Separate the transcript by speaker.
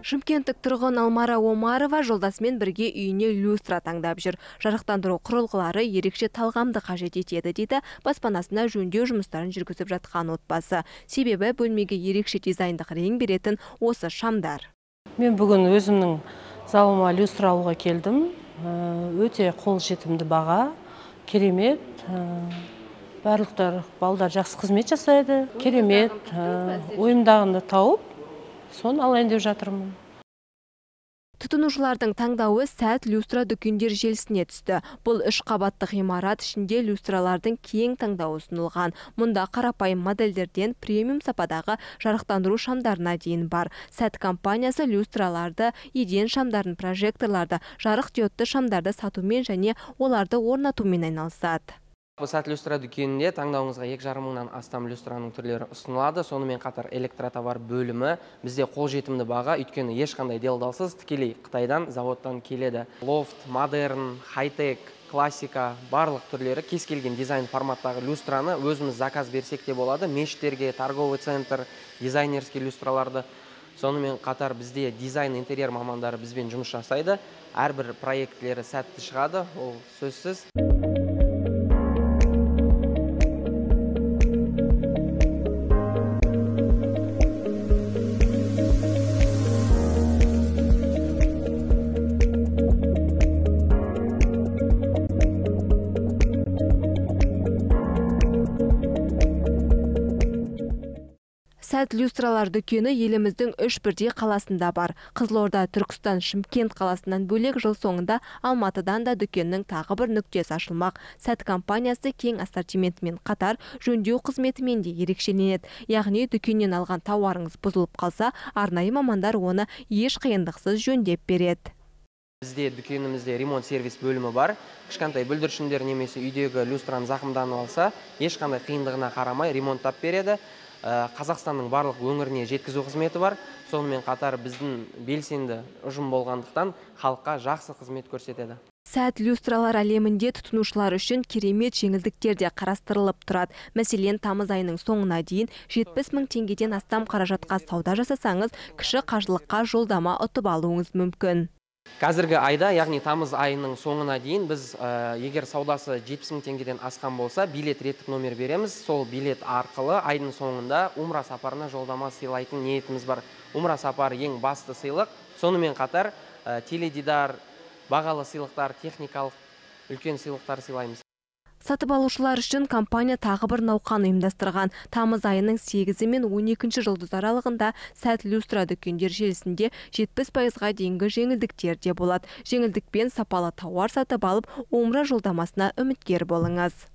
Speaker 1: Шымкенттік тұрғын Алмара Омарова жолдасымен бірге үйіне люстра таңдап жүр. Жарықтандыру құрылғылары ерекше талғамды қажет етеді дейді баспанасына жөндеу жұмыстарын жүргізіп жатқан отбасы. Себебі бөлмеге ерекше дизайндық рең беретін осы шамдар.
Speaker 2: Мен бүгін өзімнің залыма люстра алуға келдім. Өте қолжетімді баға, керемет. Барлықтар балдар жақсы қызмет жасайды. Керемет. Ойымдағынды тауып, соны алайын деп жатырмын.
Speaker 1: Тұтынушылардың таңдауы сәт люстра дүкендер желісіне түсті. Бұл 3 қабатты ғимарат ішінде люстралардың кең таңдауы ұсынылған. Мұнда қарапайым модельдерден премиум сападағы жарықтандыру шамдарына дейін бар. Сәт компаниясы люстраларды, еден шамдарын, прожекторларды, жарық диодты шамдарды сатумен және оларды орнатумен айналысады.
Speaker 3: Сәт люстра дүкенінде таңдауыңызға 2,5 мыңнан астам люстраның түрлері ұсынылады. Сонымен қатар электротовар бөлімі бізде қолжетімді баға, өйткені ешқандай делдалсыз тікелей Қытайдан, заводтан келеді. Лофт, модерн, хай-тек, классика барлық түрлері кез келген дизайн форматтағы люстраны өзіміз заказ берсек те болады. Мешіттерге, торговый центр, дизайнерский люстраларды. Сонымен қатар бізде дизайн интерьер мамандары бізбен жұмыс жасайды. Әрбір проектлері сәтті шығады, ол сөзсіз.
Speaker 1: Сәт люстралар дүкені еліміздің 3 бірдей қаласында бар. Қызылорда, Түркістан, Шымкент қаласынан бөлек жыл соңында Алматыдан да дүкеннің тағы бір нүктесі ашылмақ. Сәт компаниясы кең ассортиментімен қатар жөндеу қызметімен де ерекшеленеді. Яғни дүкеннен алған тауарыңыз бұзылып қалса, арнайы мамандар оны еш қиындықсыз жөндеп береді.
Speaker 3: Бізде дүкенімізде ремонт сервис бөлімі бар. Кішкентай бүлдіршіндер немесе үйдегі люстраны зақымданып алса, ешқандай қиындығына қарамай ремонттап береді. Қазақстанның барлық өңіріне жеткізу қызметі бар. Сонымен қатар біздің белсенді ұжым болғандықтан халыққа жақсы қызмет көрсетеді.
Speaker 1: Сәт люстралар әлемінде тұтынушылар үшін керемет жеңілдіктер де қарастырылып тұрады. Мәселен, тамыз айының соңына дейін 70 мың теңгеден астам қаражатқа сауда жасасаңыз, кіші қажылыққа жолдама ұтып алуыңыз мүмкін.
Speaker 3: Қазіргі айда, яғни тамыз айының соңына дейін біз егер саудасы 70 мың теңгеден асқан болса, билет реттік номер береміз. Сол билет арқылы айдың соңында умра сапарына жолдама сыйлайтын ниетіміз бар. Умра сапары ең басты сыйлық. Сонымен қатар теледидар, бағалы сыйлықтар, техникалық үлкен сыйлықтар сыйлаймыз.
Speaker 1: Сатып алушылар үшін компания тағы бір науқан ұйымдастырған. Тамыз айының 8 мен 12 жұлдыз аралығында Сәт люстра дүкендер желісінде 70%-ға дейінгі жеңілдіктер де болады. Жеңілдікпен сапалы тауар сатып алып, умра жолдамасына үміткер болыңыз.